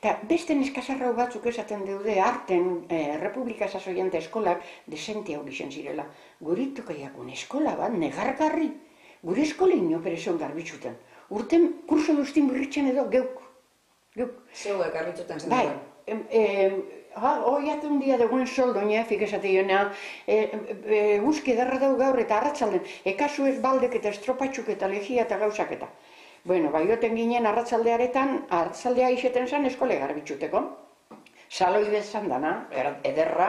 Eta beste neskazarrau batzuk esaten deude arten Republika Sasoiante eskolak desente hau gixen zirela. Guritokaiakun eskola bat, negargarri. Gure eskola inoperezion garbitxuten. Urten kurso duztin birritzen edo geuk. Zeuek garbitxuten zen Bai, duen. hoi un dia degoen soldoina, fikesate joanea, guzki edarra dau gaur eta arratzalden, ekasu ez baldek eta estropatxuk eta legia eta gauzak eta. Bueno, baioten ginen arratzaldearetan, arratzaldea iseten zen eskole garbitxuteko. Saloide zan dana, ederra,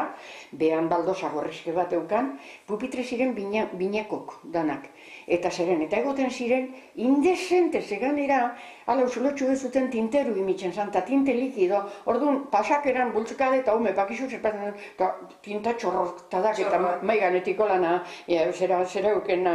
behan baldosa gorrizke bat eukan, pupitre ziren binekok danak. Eta zeren, eta egoten ziren, indezente zeganera, ala usulotxu ez zuten tinteru imitzen zan, eta tinte likido, orduan, pasakeran bultzukade eta hume, pakizu zerpatzen, eta tinta txorroktadak eta maiganetiko lana, zera euken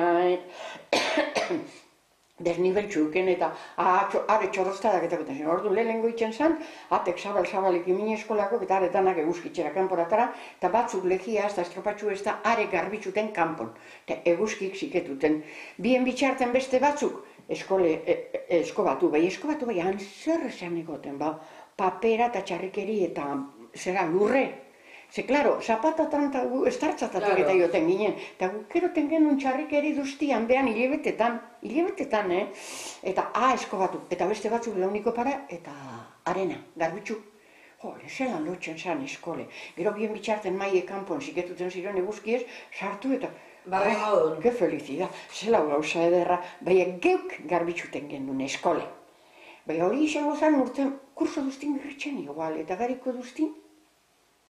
desnibeltxuken eta are txorroztadak eta goten zen. Orduan lehenengo itzen zen, atek zabalik imine eskolako eta aretanak eguzkitzera kanporatara, eta batzuk legia ez da estropatxu ez da are garbitxuten kanpon, eta eguzkik ziketuten. Bien bitxarten beste batzuk, eskobatu bai, zer esan egoten, papera eta txarrikeri eta zera lurre. Ze, klaro, zapatatan eta estartzatatik eta joten ginen. Eta gukeroten genuen txarrikeri duztian, behan hilebetetan, eta eskobatu. Eta beste batzuk launiko para, eta arena, garbitxu. Jole, zelan lotzen zan eskole. Gero bien bitxarten maie kanpon ziketuten ziren eguzkiez, sartu eta... Barri modun. Ke felizida, zela gauza ederra, baina geuk garbitxuten genuen eskole. Baina hori izango zen urten kurso duztin birritzen igual, eta gariko duztin,